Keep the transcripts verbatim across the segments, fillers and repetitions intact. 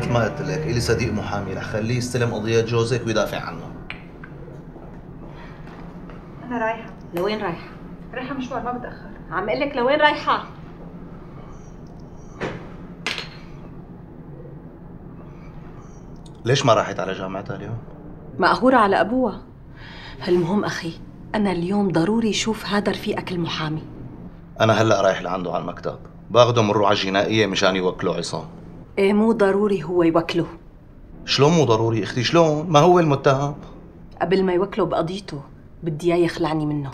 مثل ما قلت لك إلي صديق محامي رح خليه يستلم قضية جوزك ويدافع عنه. أنا رايحة. لوين رايحة؟ رايحة مشوار ما بتأخر. عم اقول لك لوين رايحة؟ ليش ما راحت على جامعتها اليوم؟ مقهورة على أبوها. المهم أخي، أنا اليوم ضروري شوف هذا رفيقك المحامي. أنا هلأ رايح لعنده على المكتب، باخده من الرعاة الجنائية مشان يوكلوا عصام. إيه مو ضروري هو يوكله. شلون مو ضروري اختي؟ شلون؟ ما هو المتهم. قبل ما يوكله بقضيته بدي اياه يخلعني منه.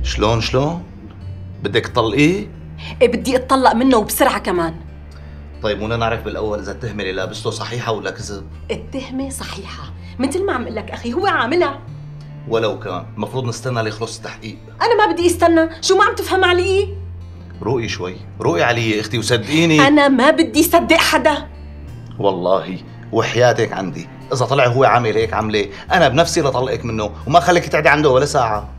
شلون شلون؟ بدك تطلقيه؟ ايه بدي اتطلق منه وبسرعة كمان. طيب بدنا نعرف بالاول اذا التهمة اللي لابسته صحيحة ولا كذب. التهمة صحيحة، مثل ما عم اقول لك اخي، هو عاملها. ولو كان المفروض نستنى ليخلص التحقيق. انا ما بدي استنى، شو ما عم تفهم علي؟ روقي شوي، روقي علي اختي وصدقيني. انا ما بدي صدق حدا. والله وحياتك عندي اذا طلع هو عامل هيك عمله انا بنفسي لطلقك منه وما خليك تعدي عنده ولا ساعه.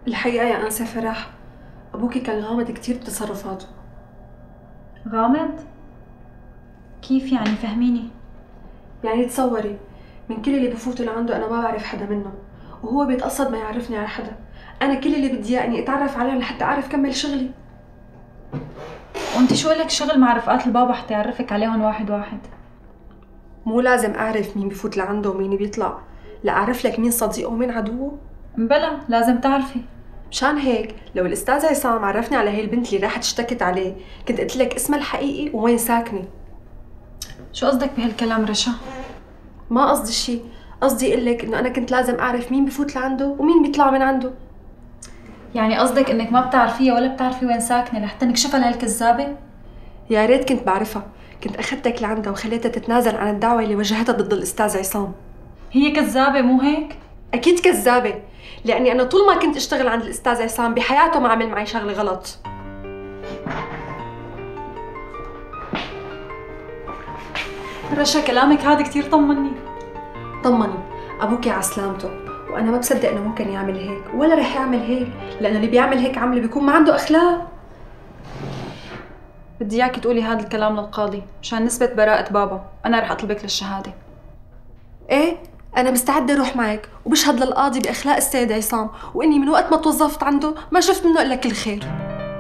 الحقيقة يا أنسة فرح، أبوكي كان غامض كتير بتصرفاته. غامض؟ كيف يعني؟ فهميني. يعني تصوري من كل اللي بفوتوا لعنده أنا ما بعرف حدا منه، وهو بيتقصد ما يعرفني على حدا. أنا كل اللي بدي إياه إني أتعرف عليهم لحتى أعرف كمل شغلي. وانت شو لك شغل مع رفقات البابا حتى يعرفك عليهم واحد واحد؟ مو لازم أعرف مين بفوت لعنده ومين بيطلع لأعرف لك مين صديقه ومين عدوه؟ بلا لازم تعرفي. مشان هيك لو الأستاذ عصام عرفني على هي البنت اللي راحت اشتكت عليه كنت قلت لك اسمها الحقيقي ووين ساكنة. شو قصدك بهالكلام رشا؟ ما قصدي شيء، قصدي اقول لك انه انا كنت لازم اعرف مين بفوت لعنده ومين بيطلع من عنده. يعني قصدك انك ما بتعرفيها ولا بتعرفي وين ساكنه لحتى نكشفها لهالكذابه؟ يا ريت كنت بعرفها، كنت اخذتك لعندها وخليتها تتنازل عن الدعوه اللي وجهتها ضد الاستاذ عصام. هي كذابه مو هيك؟ اكيد كذابه، لاني انا طول ما كنت اشتغل عند الاستاذ عصام بحياته ما عمل معي شغله غلط. رشا كلامك هذا كثير طمني. طمني، ابوكي على سلامته، وانا ما بصدق انه ممكن يعمل هيك ولا رح يعمل هيك، لانه اللي بيعمل هيك عمله بيكون ما عنده اخلاق. بدي اياكي تقولي هذا الكلام للقاضي مشان نثبت براءة بابا، انا رح اطلبك للشهاده. ايه انا مستعده اروح معك وبشهد للقاضي باخلاق السيد عصام، واني من وقت ما توظفت عنده ما شفت منه الا كل خير.